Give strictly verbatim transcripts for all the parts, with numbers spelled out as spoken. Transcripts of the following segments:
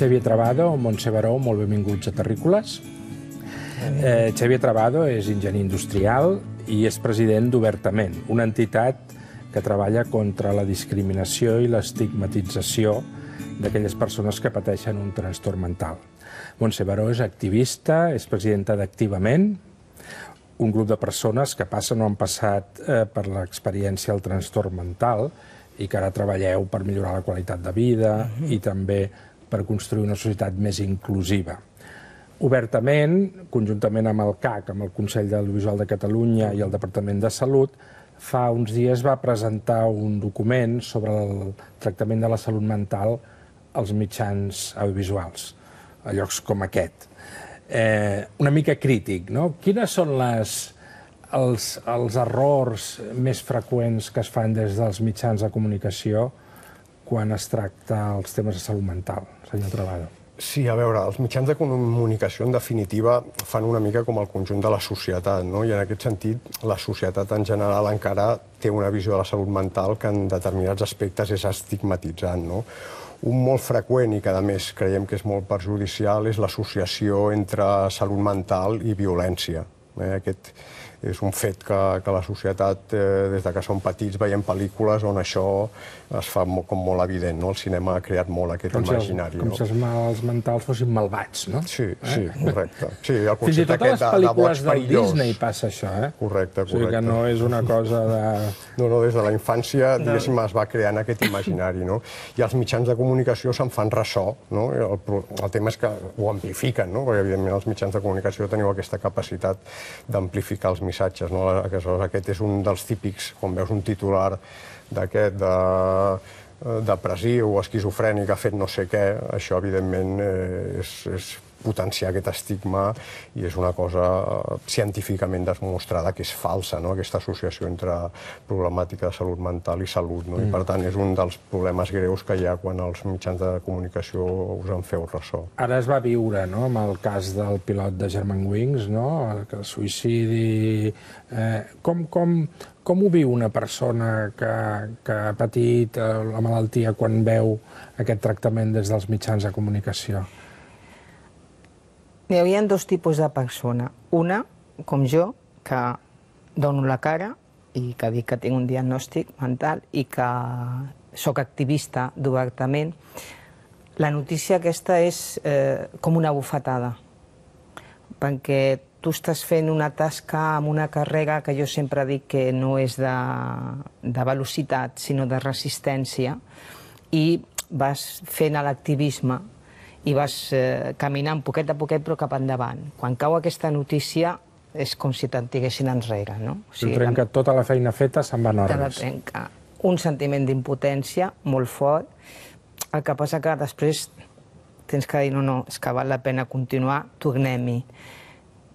Xavier Travado, Montse Baró, molt benvinguts a Terrícoles. Eh, Xavier Travado és enginyer industrial i és president d'Obertament, una entitat que treballa contra la discriminació i l'estigmatització d'aquelles persones que pateixen un trastorn mental. Montse Baró és activista, és presidenta d'Activament, un grup de persones que passen o han passat eh, per l'experiència del trastorn mental i que ara treballeu per millorar la qualitat de vida uh-huh. i també per construir una societat més inclusiva. Obertament, conjuntament amb el C A C, amb el Consell de l'Audiovisual de Catalunya i el Departament de Salut, fa uns dies va presentar un document sobre el tractament de la salut mental als mitjans audiovisuals, a llocs com aquest. Eh, una mica crític, no? Quines són les, els, els errors més freqüents que es fan des dels mitjans de comunicació quan es tracta els temes de salut mental, senyor Travado? Sí, a veure, els mitjans de comunicació, en definitiva, fan una mica com el conjunt de la societat, no? I en aquest sentit, la societat en general encara té una visió de la salut mental que en determinats aspectes és estigmatitzant, no? Un molt freqüent i que, a més, creiem que és molt perjudicial és l'associació entre salut mental i violència. Aquest és un fet que, que la societat, eh, des de que som petits, veiem pel·lícules on això es fa molt, com molt evident, no? El cinema ha creat molt aquest com imaginari. Si els, com no? si els mals mentals fossin malvats, no? Sí, sí, eh? correcte. Sí, el Fins i tot a les pel·lícules de del Disney passa això, eh? Correcte, correcte. O sigui que no és una cosa de... No, no, des de la infància, diguéssim, es va creant aquest imaginari, no? I els mitjans de comunicació se'n fan ressò, no? El, el tema és que ho amplifiquen, no? Perquè, evidentment, els mitjans de comunicació teniu aquesta capacitat d'amplificar els missatges, no? Aquest és un dels típics, quan veus un titular d'aquest de depressiu o esquizofrènic ha fet no sé què, això evidentment és, és potenciar aquest estigma i és una cosa científicament demostrada que és falsa, no? Aquesta associació entre problemàtica de salut mental i salut, no? I per tant és un dels problemes greus que hi ha quan els mitjans de comunicació us en feu ressò. Ara es va viure, no?, amb el cas del pilot de Germanwings, no?, el suïcidi. Eh, com, com, com ho viu una persona que, que ha patit la malaltia quan veu aquest tractament des dels mitjans de comunicació? Hi havia dos tipus de persona. Una, com jo, que dono la cara i que dic que tinc un diagnòstic mental i que sóc activista d'Obertament. La notícia aquesta és eh, com una bufetada, perquè tu estàs fent una tasca amb una carrera que jo sempre dic que no és de, de velocitat, sinó de resistència, i vas fent l'activisme i vas eh, caminant poquet a poquet però cap endavant. Quan cau aquesta notícia és com si te'n tiguessin enrere, no? O sigui, trenca tota la feina feta, se'n va en te la ordes. trenca. Un sentiment d'impotència molt fort. El que passa que després tens que dir no, no, és que val la pena continuar, tornem-hi.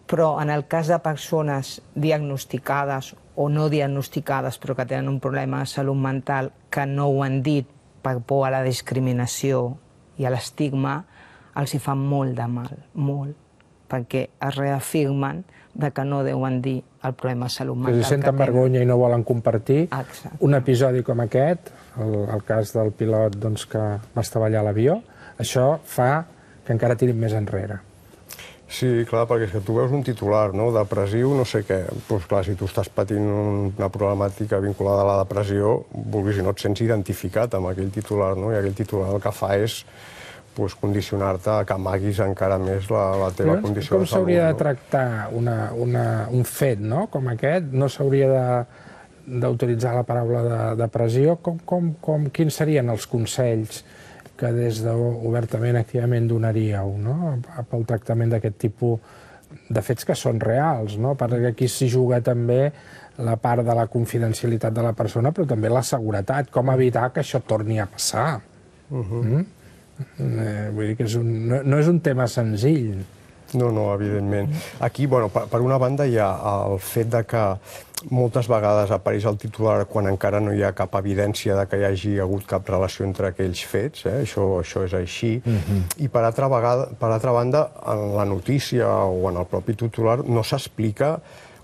Però en el cas de persones diagnosticades o no diagnosticades però que tenen un problema de salut mental que no ho han dit per por a la discriminació i a l'estigma, els hi fa molt de mal, molt, perquè es reafirmen de que no deuen dir el problema de salut mental que tenen. Si senten vergonya i no volen compartir, Exacte. Un episodi com aquest, el, el cas del pilot doncs, que va estavellar l'avió, això fa que encara tirin més enrere. Sí, clar, perquè és que tu veus un titular, no?, depressiu, no sé què. Doncs clar, si tu estàs patint una problemàtica vinculada a la depressió, vulguis i no et sents identificat amb aquell titular, no? I aquell titular el que fa és pues, condicionar-te a que amaguis encara més la, la teva Llavors, condició com de salut. Com s'hauria de no? tractar una, una, un fet, no?, com aquest? No s'hauria d'utilitzar la paraula de depressió? Com, com, com, quins serien els consells que des d'Obertament, Activament donaríeu, no?, pel tractament d'aquest tipus de fets que són reals, no?, perquè aquí s'hi juga també la part de la confidencialitat de la persona, però també la seguretat, com evitar que això torni a passar. Uh-huh. mm? eh, vull dir que és un, no, no és un tema senzill. No, no, evidentment. Aquí, bueno, per, per una banda hi ha el fet de que moltes vegades apareix el titular quan encara no hi ha cap evidència de que hi hagi hagut cap relació entre aquells fets, eh? això, això és així. Uh-huh. I per altra, vegada, per altra banda, en la notícia o en el propi titular no s'explica,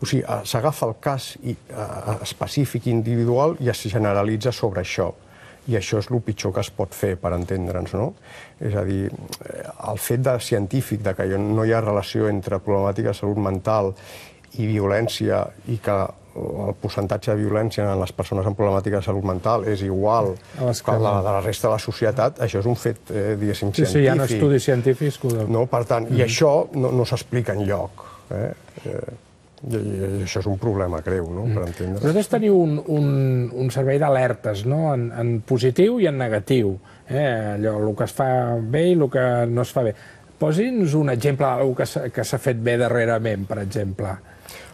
o sigui, s'agafa el cas i, uh, específic, individual, i es generalitza sobre això. I això és el pitjor que es pot fer, per entendre'ns, no? És a dir, el fet de científic de que no hi ha relació entre problemàtica de salut mental i violència i que el percentatge de violència en les persones amb problemàtica de salut mental és igual que la de la resta de la societat, això és un fet, eh, diguéssim, científic. Sí, sí, hi ha estudis científics que ho deuen. No? Per tant, i això no, no s'explica enlloc. Eh? Eh, I, I això és un problema greu, no? Per entendre. Vosaltres teniu un, un, un servei d'alertes, no? En, en positiu i en negatiu. Eh? Allò, el que es fa bé i el que no es fa bé. Posi'ns un exemple d'alguna que s'ha fet bé darrerament, per exemple.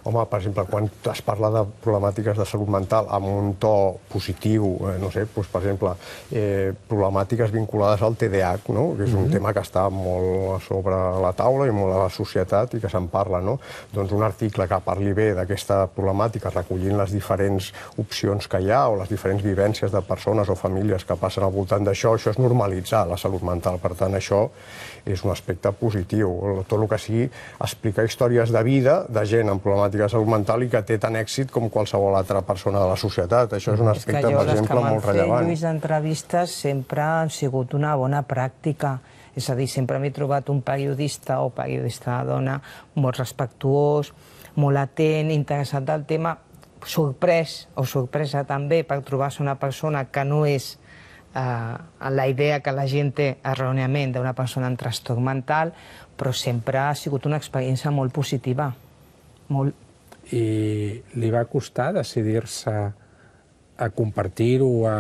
Home, per exemple, quan es parla de problemàtiques de salut mental amb un to positiu, eh, no sé, doncs, per exemple, eh, problemàtiques vinculades al T D A H, no? Que és un mm-hmm. tema que està molt a sobre la taula i molt a la societat i que se'n parla, no? Doncs un article que parli bé d'aquesta problemàtica, recollint les diferents opcions que hi ha o les diferents vivències de persones o famílies que passen al voltant d'això, això és normalitzar la salut mental. Per tant, això és un aspecte positiu. Tot el que sigui explicar històries de vida de gent amb problemàtiques de salut mental i que té tant èxit com qualsevol altra persona de la societat. Això és un aspecte, per exemple, molt rellevant. Lluís, entrevistes sempre han sigut una bona pràctica. És a dir, sempre m'he trobat un periodista o periodista dona molt respectuós, molt atent, interessat al tema, sorprès o sorpresa també per trobar-se una persona que no és Uh, la idea que la gent té erròniament d'una persona amb trastorn mental, però sempre ha sigut una experiència molt positiva. Molt. I li va costar decidir-se a compartir-ho, a,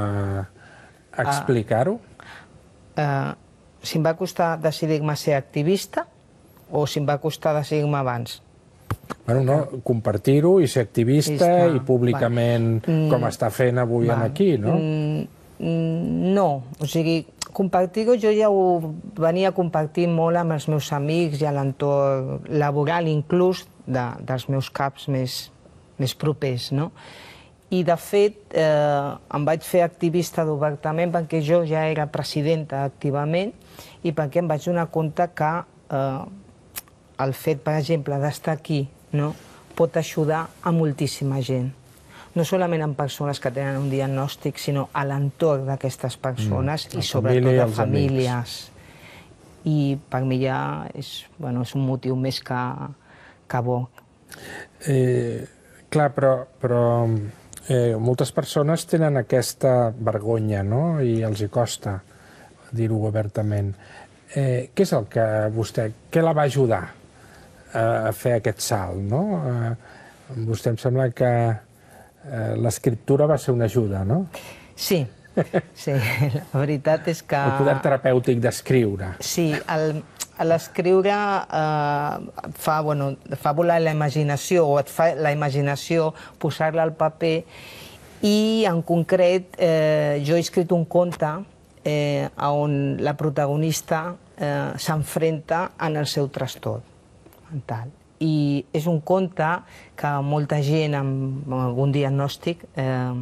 a explicar-ho? Uh, uh, si em va costar decidir-me a ser activista o si em va costar decidir-me abans? Bueno, no, compartir-ho i ser activista Vista. i públicament, va. com està fent avui va. aquí, no? Mm, No, o sigui, compartir-ho jo ja ho venia compartint molt amb els meus amics i a l'entorn laboral, inclús de, dels meus caps més, més propers, no? I, de fet, eh, em vaig fer activista d'obertament perquè jo ja era presidenta activament i perquè em vaig donar compte que eh, el fet, per exemple, d'estar aquí, no?, pot ajudar a moltíssima gent. No solament amb persones que tenen un diagnòstic, sinó a l'entorn d'aquestes persones mm, i sobretot a famílies. I per mi ja és, bueno, és un motiu més que, que bo. Eh, clar, però, però eh, moltes persones tenen aquesta vergonya, no?, i els hi costa dir-ho obertament. Eh, què és el que vostè, què la va ajudar a fer aquest salt, no? Eh, vostè em sembla que Eh, l'escriptura va ser una ajuda, no? Sí, sí, la veritat és que... El poder terapèutic d'escriure. Sí, l'escriure eh, fa, bueno, fa volar la imaginació, o et fa la imaginació posar-la al paper, i en concret eh, jo he escrit un conte eh, on la protagonista eh, s'enfrenta en el seu trastorn mental. I és un conte que molta gent amb algun diagnòstic eh,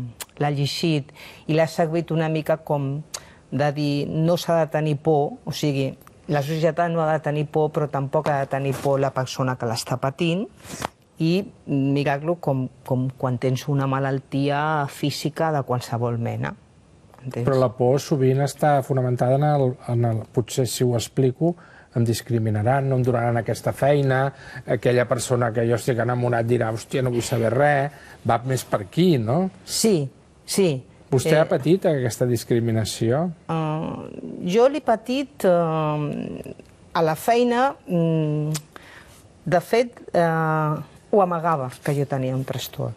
l'ha llegit i l'ha servit una mica com de dir no s'ha de tenir por, o sigui, la societat no ha de tenir por, però tampoc ha de tenir por la persona que l'està patint i mirar-lo com, com quan tens una malaltia física de qualsevol mena. Entens? Però la por sovint està fonamentada en el, en el... Potser si ho explico em discriminaran, no em donaran aquesta feina, aquella persona que jo estic enamorat dirà, hòstia, no vull saber res, va més per aquí, no? Sí, sí. Vostè eh, ha patit aquesta discriminació? Uh, jo l'he patit uh, a la feina. Mm, de fet, uh, ho amagava, que jo tenia un trastorn.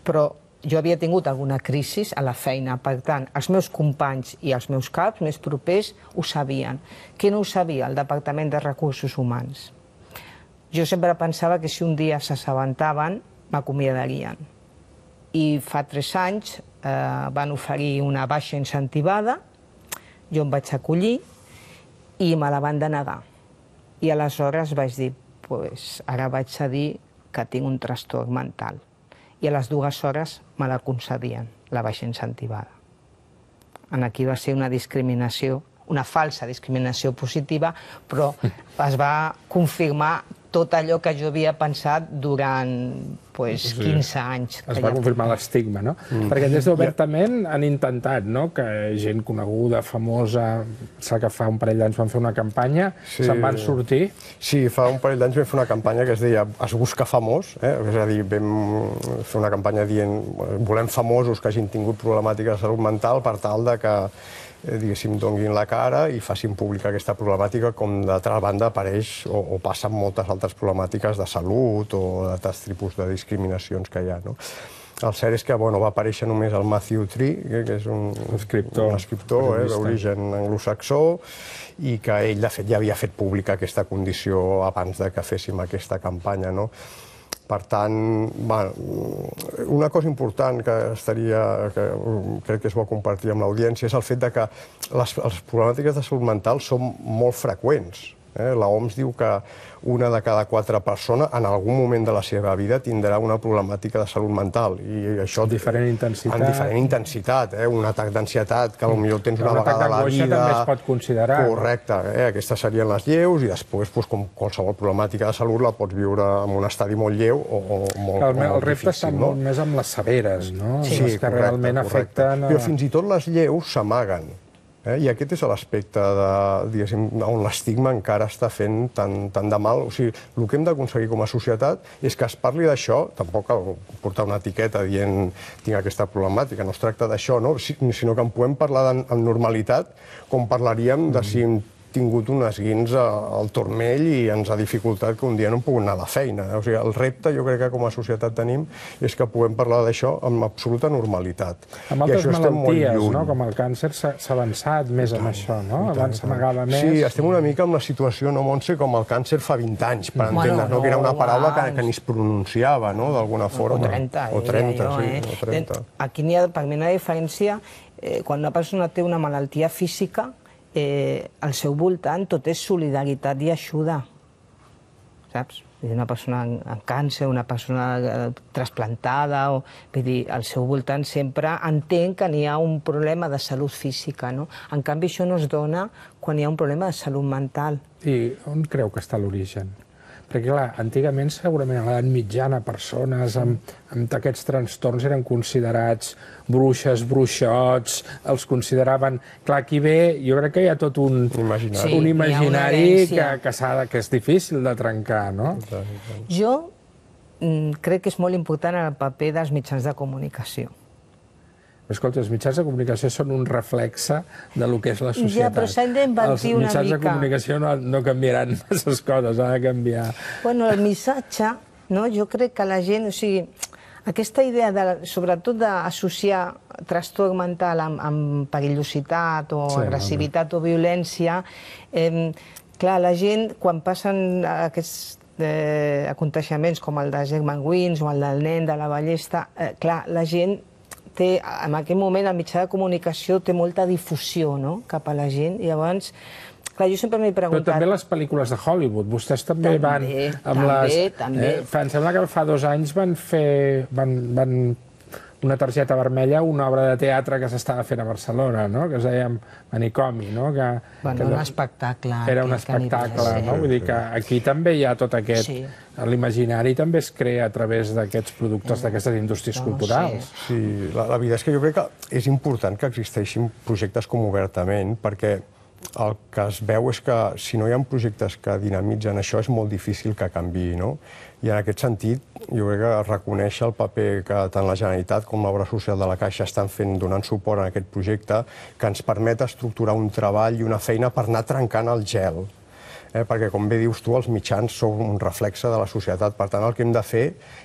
Però jo havia tingut alguna crisi a la feina, per tant, els meus companys i els meus caps més propers ho sabien. Qui no ho sabia? El Departament de Recursos Humans. Jo sempre pensava que si un dia s'assabentaven, m'acomiadarien. I fa tres anys eh, van oferir una baixa incentivada, jo em vaig acollir i me la van denegar. I aleshores vaig dir, pues, ara vaig a dir que tinc un trastorn mental. I a les dues hores me la concedien, la baixa incentivada. Aquí va ser una discriminació, una falsa discriminació positiva, però es va confirmar tot allò que jo havia pensat durant pues, quinze anys. Es va confirmar l'estigma, no? Perquè des d'Obertament han intentat, no?, que gent coneguda, famosa, sap que fa un parell d'anys van fer una campanya, se'n van sortir. Sí, fa un parell d'anys vam fer una campanya que es deia Es busca famós, és a dir, vam fer una campanya dient volem famosos que hagin tingut problemàtiques de salut mental per tal de que diguéssim, donguin la cara i facin pública aquesta problemàtica, com d'altra banda apareix o, o passen moltes altres problemàtiques de salut o d'altres tipus de discriminacions que hi ha, no? El cert és que bueno, va aparèixer només el Matthew Tree, que és un escriptor, un escriptor eh, d'origen anglosaxó, i que ell, de fet, ja havia fet pública aquesta condició abans de que féssim aquesta campanya, no? Per tant, bueno, una cosa important que estaria, que crec que és bo compartir amb l'audiència, és el fet de que les, les problemàtiques de salut mental són molt freqüents. Eh? La O M S diu que una de cada quatre persones en algun moment de la seva vida tindrà una problemàtica de salut mental. I això, amb diferent intensitat. Amb diferent intensitat, eh? Un atac d'ansietat que potser tens una vegada a la vida. També es pot considerar. Correcte, eh? Aquestes serien les lleus i després, doncs, com qualsevol problemàtica de salut, la pots viure en un estadi molt lleu o, o molt, el, molt el repte difícil. està No? molt més amb les severes, no? Sí, les que correcte, realment correcte. afecten... A... Però fins i tot les lleus s'amaguen. Eh? I aquest és l'aspecte on l'estigma encara està fent tant, tant de mal. O sigui, el que hem d'aconseguir com a societat és que es parli d'això, tampoc cal portar una etiqueta dient tinc aquesta problemàtica, no es tracta d'això, no? Sinó que en puguem parlar amb normalitat, com parlaríem de si hem tingut un esguins al turmell i ens ha dificultat que un dia no hem pogut anar a la feina. O sigui, el repte, jo crec que com a societat tenim, és que puguem parlar d'això amb absoluta normalitat. Amb altres malalties, no? Com el càncer, s'ha avançat més amb això, no? Abans s'amagava més. Sí, estem una mica amb la situació, no, Montse, com el càncer fa vint anys, per entendre's, no? Que era una paraula que, que ni es pronunciava, no?, d'alguna forma. O trenta, o trenta, jo, sí, eh? o trenta. Aquí n'hi ha, per mi, una diferència, eh, quan una persona té una malaltia física, Eh, al seu voltant tot és solidaritat i ajuda, saps? Una persona amb càncer, una persona eh, trasplantada, o, vull dir, al seu voltant sempre entén que n'hi ha un problema de salut física, no? En canvi, això no es dona quan hi ha un problema de salut mental. I on creu que està l'origen? Perquè, clar, antigament, segurament, a l'edat mitjana, persones amb, amb aquests trastorns eren considerats bruixes, bruixots, els consideraven... Clar, aquí ve, jo crec que hi ha tot un imaginari, sí, un imaginari que, que, de, que és difícil de trencar, no? Jo mm, crec que és molt important el paper dels mitjans de comunicació. Escolta, els mitjans de comunicació són un reflexe de lo que és la societat. Ja, però s'han d'invertir una mica. Els mitjans de comunicació no, no canviaran aquestes coses, ha de canviar. Bueno, el missatge, no? Jo crec que la gent, o sigui, aquesta idea, de, sobretot d'associar trastorn mental amb, amb perillositat o sí, agressivitat no, no. o violència, eh, clar, la gent, quan passen aquests eh, aconteixements com el de German Wings o el del nen de la ballesta, eh, clar, la gent té, en aquell moment el mitjà de comunicació té molta difusió, no?, cap a la gent, i llavors, clar, jo sempre m'he preguntat... Però també les pel·lícules de Hollywood, vostès també, també van... Amb també, les, també. Eh, em sembla que fa dos anys van fer... Van, van una targeta vermella, una obra de teatre que s'estava fent a Barcelona, no?, que es deia Manicomi, no? Que, bueno, que un espectacle. Era un espectacle, no? Vull dir que aquí també hi ha tot aquest... Sí. L'imaginari també es crea a través d'aquests productes, d'aquestes indústries no, culturals. Sí, sí la, la veritat és que jo crec que és important que existeixin projectes com Obertament, perquè el que es veu és que si no hi ha projectes que dinamitzen això és molt difícil que canviï, no? I en aquest sentit, jo crec que reconèixer el paper que tant la Generalitat com l'Obra Social de la Caixa estan fent, donant suport a aquest projecte, que ens permet estructurar un treball i una feina per anar trencant el gel. Eh, perquè, com bé dius tu, els mitjans són un reflexe de la societat. Per tant, el que hem de fer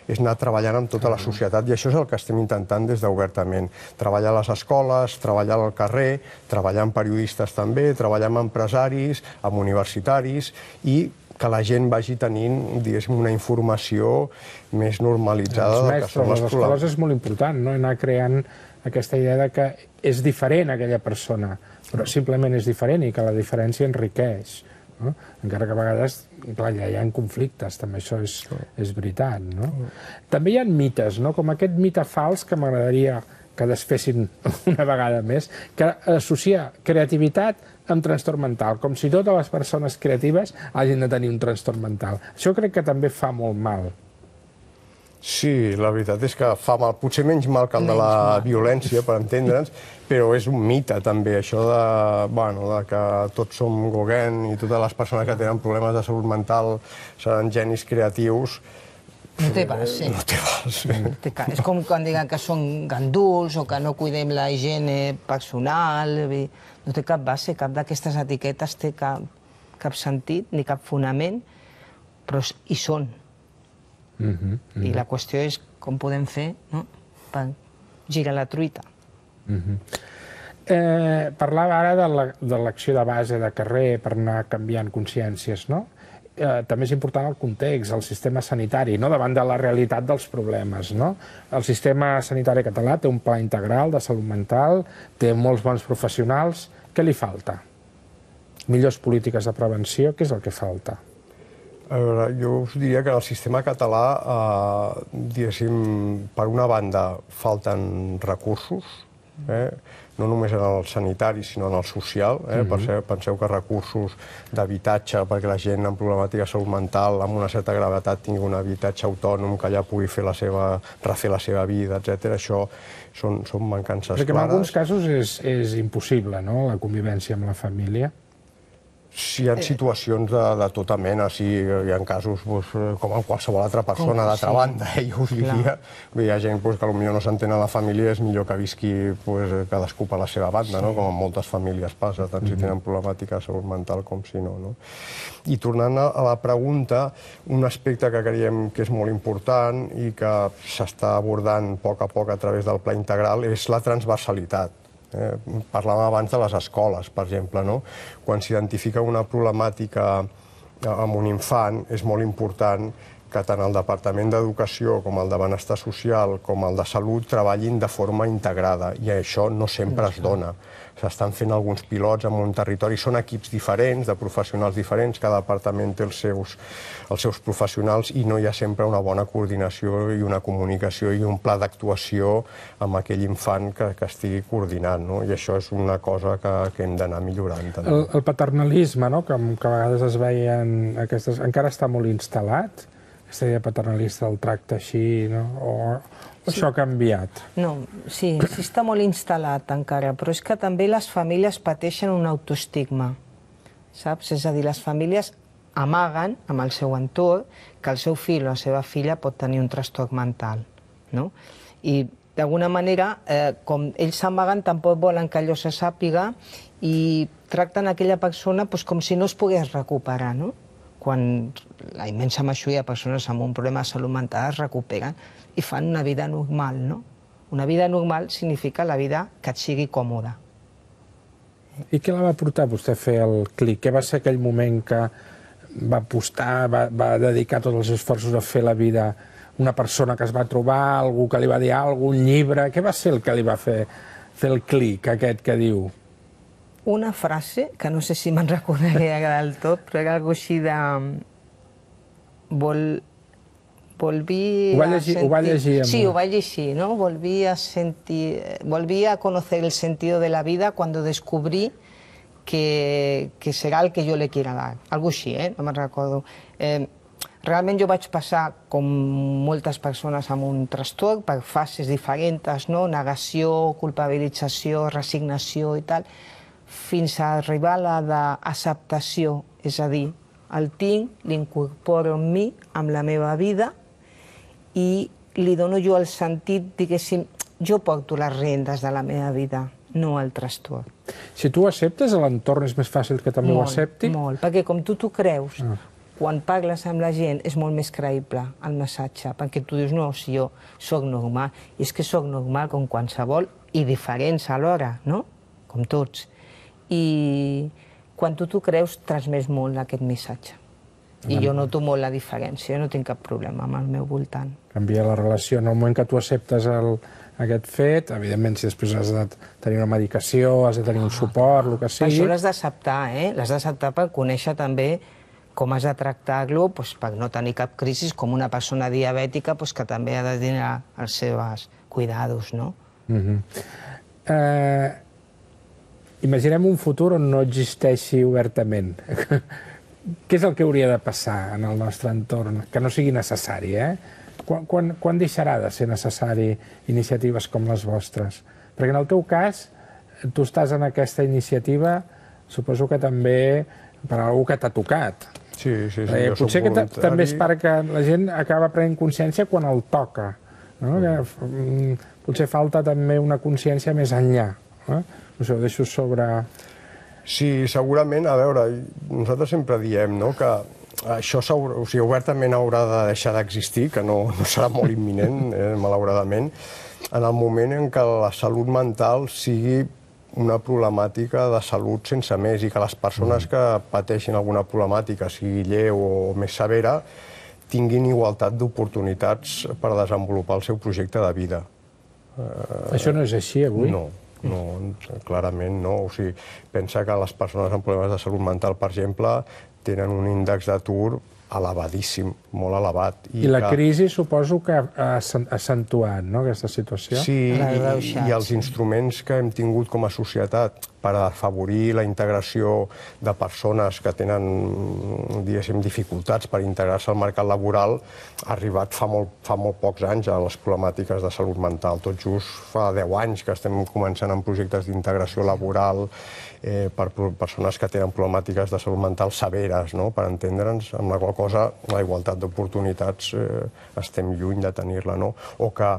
és anar treballant amb tota la societat, i això és el que estem intentant des d'Obertament. Treballar a les escoles, treballar al carrer, treballar amb periodistes també, treballar amb empresaris, amb universitaris, i que la gent vagi tenint, diguéssim, una informació més normalitzada del que són les problemes. Les escoles és molt important, no?, anar creant aquesta idea de que és diferent aquella persona, però simplement és diferent i que la diferència enriqueix. No? Encara que a vegades, clar, ja hi ha conflictes, també això és, és veritat, no? També hi ha mites, no?, com aquest mite fals que m'agradaria que desfessin una vegada més, que associa creativitat amb trastorn mental, com si totes les persones creatives hagin de tenir un trastorn mental. Això crec que també fa molt mal. Sí, la veritat és que fa mal, potser menys mal que el de la violència, per entendre'ns, però és un mite també, això de, bueno, de que tots som Gauguin i totes les persones que tenen problemes de salut mental seran genis creatius. No té pas, sí. No té pas, sí. És com quan diuen que són ganduls o que no cuidem la higiene personal. No té cap base, cap d'aquestes etiquetes té cap, cap sentit ni cap fonament, però hi són. Uh -huh, uh -huh. I la qüestió és com podem fer, no?, per girar la truita. Uh -huh. eh, parlava ara de l'acció de base de carrer per anar canviant consciències, no? Eh, també és important el context, el sistema sanitari, no?, davant de la realitat dels problemes, no? El sistema sanitari català té un pla integral de salut mental, té molts bons professionals. Què li falta? Millors polítiques de prevenció, què és el que falta? A veure, jo us diria que en el sistema català, eh, diguéssim, per una banda, falten recursos, eh? No només en el sanitari, sinó en el social. Eh? Mm-hmm. Penseu que recursos d'habitatge perquè la gent amb problemàtica de salut mental, amb una certa gravetat, tingui un habitatge autònom, que ja pugui fer la seva, refer la seva vida, etcètera. Això són, són mancances clares. Perquè en clares. alguns casos és, és impossible, no?, la convivència amb la família. Sí, hi ha situacions de, de tota mena, sí, hi ha casos doncs, com en qualsevol altra persona d'altra banda, eh, jo us diria. Hi ha gent doncs, que potser no s'entén a la família, és millor que visqui doncs, cadascú per la seva banda, no? Com en moltes famílies passa, tant si tenen problemàtica de salut mental com si no. No? I tornant a la pregunta, un aspecte que creiem que és molt important i que s'està abordant a poc a poc a través del pla integral és la transversalitat. Eh, parlàvem abans de les escoles, per exemple, no? Quan s'identifica una problemàtica amb un infant, és molt important que tant el Departament d'Educació com el de Benestar Social com el de Salut treballin de forma integrada, i això no sempre es dona. S'estan fent alguns pilots en un territori, són equips diferents, de professionals diferents, cada departament té els seus, els seus professionals i no hi ha sempre una bona coordinació i una comunicació i un pla d'actuació amb aquell infant que, que estigui coordinant, no? I això és una cosa que, que hem d'anar millorant. També. El, el paternalisme, no?, que, que a vegades es veien aquestes, encara està molt instal·lat, aquesta idea paternalista, el tracte així, no? O, o això ha canviat? No, sí, sí està molt instal·lat encara, però és que també les famílies pateixen un autoestigma, saps? És a dir, les famílies amaguen amb el seu entorn que el seu fill o la seva filla pot tenir un trastorn mental, no? I d'alguna manera, eh, com ells s'amaguen, tampoc volen que allò se sàpiga i tracten aquella persona doncs, com si no es pogués recuperar, no? Quan la immensa majoria de persones amb un problema de salut mental es recuperen i fan una vida normal, no? Una vida normal significa la vida que et sigui còmoda. I què la va portar vostè a fer el clic? Què va ser aquell moment que va apostar, va, va dedicar tots els esforços a fer la vida una persona que es va trobar, algú que li va dir alguna cosa, un llibre? Què va ser el que li va fer, fer el clic aquest que diu? Una frase, que no sé si me'n recordaria del tot, però era alguna així de... Vol... Volví ho va llegir, a sentir... Ho va llegir sí, ho va llegir, ¿no? Volví a sentir... Volví a conocer el sentido de la vida cuando descubrí que, que será el que yo le quiera dar. Algo així, eh? No me'n recordo. Eh, realment jo vaig passar, com moltes persones amb un trastorn, per fases diferents, no? Negació, culpabilització, resignació i tal, fins a arribar a la d'acceptació, és a dir, el tinc, l'incorporo en mi, amb la meva vida, i li dono jo el sentit, diguéssim, jo porto les rendes de la meva vida, no el trastorn. Si tu ho acceptes, l'entorn és més fàcil que també molt, ho accepti? Molt, perquè com tu t'ho creus, ah. quan parles amb la gent és molt més creïble el missatge, perquè tu dius, no, si jo sóc normal, i és que sóc normal com qualsevol, i diferents alhora, no? Com tots. I quan tu t'ho creus, transmets molt aquest missatge. I jo noto molt la diferència, no tinc cap problema amb el meu voltant. Canvia la relació. En el moment que tu acceptes el, aquest fet, evidentment, si després has de tenir una medicació, has de tenir un suport, el que sigui... Això l'has d'acceptar, eh? L'has d'acceptar per conèixer també com has de tractar-lo, doncs, per no tenir cap crisi, com una persona diabètica doncs, que també ha de tenir els seus cuidados, no? Uh-huh. eh, imaginem un futur on no existeixi obertament. Què és el que hauria de passar en el nostre entorn? Que no sigui necessari, eh? quan, quan, quan deixarà de ser necessari iniciatives com les vostres? Perquè en el teu cas, tu estàs en aquesta iniciativa, suposo que també per algú que t'ha tocat. Sí, sí, sí, eh, jo soc potser que voluntari. també és perquè la gent acaba prenent consciència quan el toca. No? Que, mm, potser falta també una consciència més enllà. Eh? No sé, ho deixo sobre... Sí, segurament, a veure, nosaltres sempre diem, no?, que això o sigui, obertament haurà de deixar d'existir, que no, no serà molt imminent, eh, malauradament, en el moment en què la salut mental sigui una problemàtica de salut sense més i que les persones que pateixin alguna problemàtica, sigui lleu o més severa, tinguin igualtat d'oportunitats per desenvolupar el seu projecte de vida. Això no és així avui? No, no, clarament no. O sigui, pensa que les persones amb problemes de salut mental, per exemple, tenen un índex d'atur elevadíssim, molt elevat. I, I la que... crisi suposo que ha accentuat, no?, aquesta situació? Sí, i, i els instruments que hem tingut com a societat per afavorir la integració de persones que tenen, diguéssim, dificultats per integrar-se al mercat laboral ha arribat fa molt, fa molt pocs anys a les problemàtiques de salut mental. Tot just fa deu anys que estem començant amb projectes d'integració laboral eh, per persones que tenen problemàtiques de salut mental severes, no?, per entendre'ns, amb la qual cosa la igualtat d'oportunitats eh, estem lluny de tenir-la, no? O que,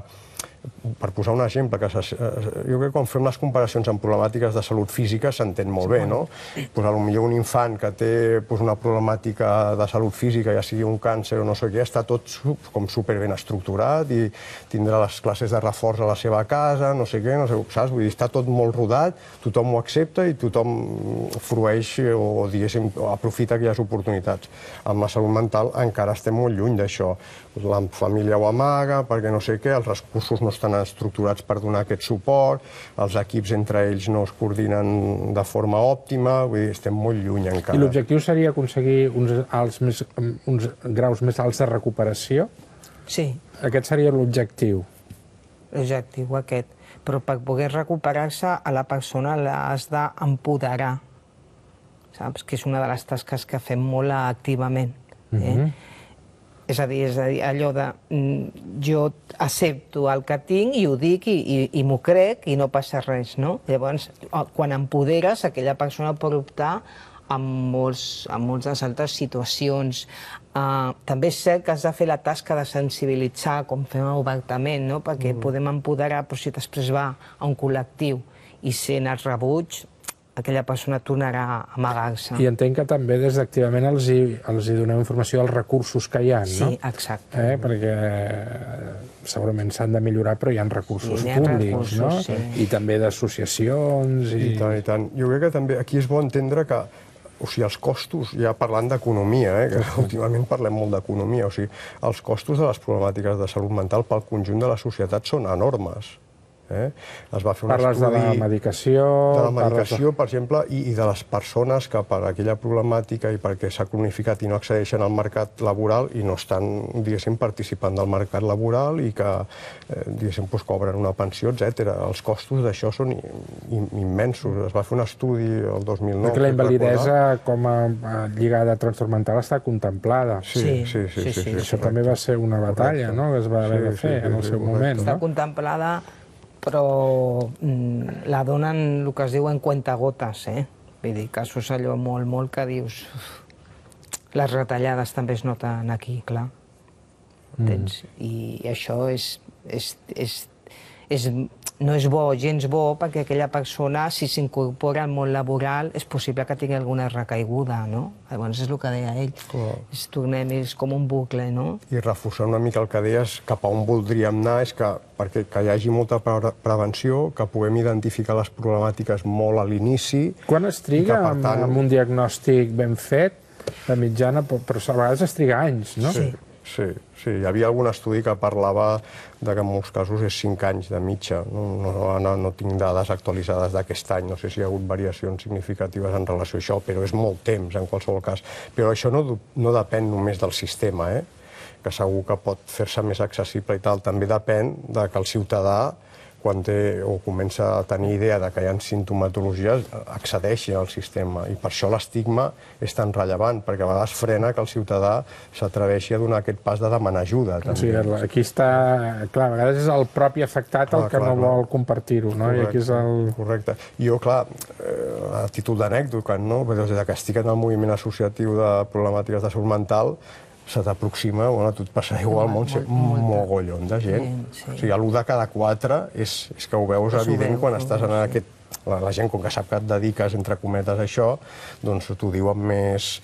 per posar un exemple, que se, jo crec que quan fem les comparacions amb problemàtiques de salut física s'entén molt bé, no? Pues, potser un infant que té pues, una problemàtica de salut física, ja sigui un càncer o no sé què, està tot com superben estructurat i tindrà les classes de reforç a la seva casa, no sé què, no sé, saps? Vull dir, està tot molt rodat, tothom ho accepta i tothom frueix o, diguéssim, aprofita aquelles oportunitats. Amb la salut mental encara estem molt lluny d'això. La família ho amaga perquè no sé què, els recursos no estan estructurats per donar aquest suport, els equips entre ells no es coordinen de forma òptima, vull dir, estem molt lluny encara. I l'objectiu seria aconseguir uns, alts més, uns graus més alts de recuperació? Sí. Aquest seria l'objectiu? L'objectiu aquest. Però per poder recuperar-se a la persona l'has d'empoderar, saps? Que és una de les tasques que fem molt activament. Eh? Mm-hmm. És a dir, és a dir, allò de jo accepto el que tinc i ho dic i, i, i m'ho crec i no passa res, no? Llavors, quan empoderes, aquella persona pot optar en, molts, en moltes altres situacions. Uh, també és cert que has de fer la tasca de sensibilitzar, com fem obertament, no? Perquè mm. podem empoderar, però si després va a un col·lectiu i sent el rebuig, aquella persona tornarà a amagar-se. I entenc que també des d'activament els, hi, els hi doneu informació dels recursos que hi ha, no? Sí, exacte. Eh? Perquè segurament s'han de millorar, però hi ha recursos sí, públics, recursos, no? Sí. I també d'associacions. I... I tant, i tant. Jo crec que també aquí és bo entendre que o sigui, els costos, ja parlant d'economia, eh, que últimament parlem molt d'economia, o sigui, els costos de les problemàtiques de salut mental pel conjunt de la societat són enormes. Eh? Es va fer un parles estudi de la medicació... De la medicació, de... per exemple, i, i de les persones que per aquella problemàtica i perquè s'ha cronificat i no accedeixen al mercat laboral i no estan, diguéssim, participant del mercat laboral i que, eh, diguéssim, pues, cobren una pensió, etcètera. Els costos d'això són immensos. Es va fer un estudi el dos mil nou... Perquè la invalidesa com a lligada a trastorn mental està contemplada. Sí, sí, sí. sí, sí, sí, sí Això també va ser una batalla, no?, que es va haver de fer en el seu moment. Està contemplada, però mm, la donen el que es diu en cuentagotes, eh? Vull dir, casos allò molt, molt que dius... Les retallades també es noten aquí, clar. Entens? Mm. I això és, és, és, és, no és bo, gens bo, perquè aquella persona, si s'incorpora al món laboral, és possible que tingui alguna recaiguda, no? Llavors és el que deia ell. Oh. És, tornem, és com un bucle, no? I reforçar una mica el que deies, cap a on voldríem anar, és que perquè que hi hagi molta pre prevenció, que puguem identificar les problemàtiques molt a l'inici... Quan es triga que, tant... amb, amb un diagnòstic ben fet, de mitjana, però a vegades es triga anys, no? Sí. Sí, sí, hi havia algun estudi que parlava de que en molts casos és cinc anys de mitja. No, no, no, no tinc dades actualitzades d'aquest any, no sé si hi ha hagut variacions significatives en relació a això, però és molt temps en qualsevol cas. Però això no, no depèn només del sistema, eh? Que segur que pot fer-se més accessible i tal. També depèn de que el ciutadà quan té o comença a tenir idea de que hi ha sintomatologies, accedeixi al sistema. I per això l'estigma és tan rellevant, perquè a vegades frena que el ciutadà s'atreveixi a donar aquest pas de demanar ajuda. O sigui, aquí està... Clar, a vegades és el propi afectat el que no vol compartir-ho, no? I aquí és el... Correcte. Jo, clar, a títol d'anècdota, no? Des que estic en el moviment associatiu de problemàtiques de salut mental, se t'aproxima, bueno, a tu et passarà igual, un mogollon de gent. O sigui, l'u de cada quatre és que ho veus evident quan estàs en aquest... La gent, com que sap que et dediques, entre cometes, a això, doncs t'ho diu amb més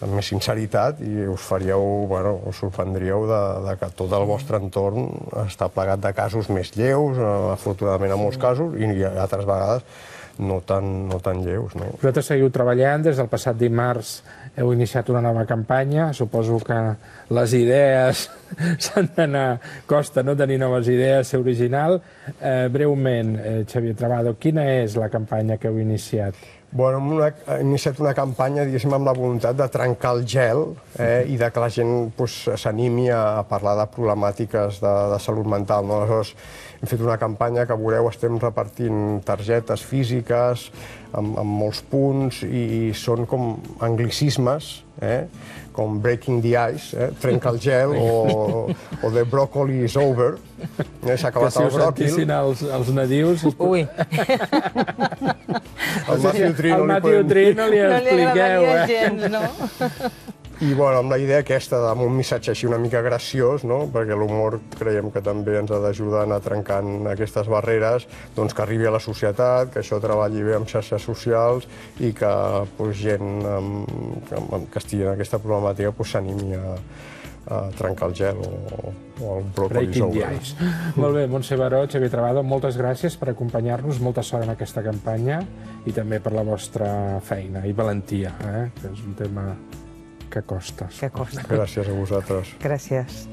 amb més sinceritat i us faríeu, bueno, us sorprendríeu de que tot el vostre entorn està plegat de casos més lleus, afortunadament en molts casos, i altres vegades no tan, no tan lleus. No? Vosaltres seguiu treballant, des del passat dimarts heu iniciat una nova campanya, suposo que les idees s'han d'anar, costa no tenir noves idees, ser original. Eh, breument, eh, Xavier Trabado, quina és la campanya que heu iniciat? Bueno, hem, una, hem iniciat una campanya, diguéssim, amb la voluntat de trencar el gel eh, i de que la gent s'animi pues, a parlar de problemàtiques de, de salut mental. No? Aleshores, hem fet una campanya que, veureu, estem repartint targetes físiques amb, amb molts punts i, i són com anglicismes, eh? com breaking the ice, eh? trenca el gel, o, o the broccoli is over, eh? s'ha acabat el bròquil. Que si ho sentissin els, els nadius... Ui! Al Matthew Tree no, Tree no li expliqueu, eh? Gens, no? I bueno, amb la idea aquesta d'un missatge així una mica graciós, no? Perquè l'humor creiem que també ens ha d'ajudar a anar trencant aquestes barreres, doncs que arribi a la societat, que això treballi bé amb xarxes socials i que pues, gent amb, amb, que estigui en aquesta problemàtica s'animi a, a trencar el gel o, o el bròcoli sobre. Molt bé, Montse Baró, Xavier Trabado, moltes gràcies per acompanyar-nos, molta sort en aquesta campanya i també per la vostra feina i valentia, eh? que és un tema que costa. Que costa. Gràcies a vosaltres. Gràcies.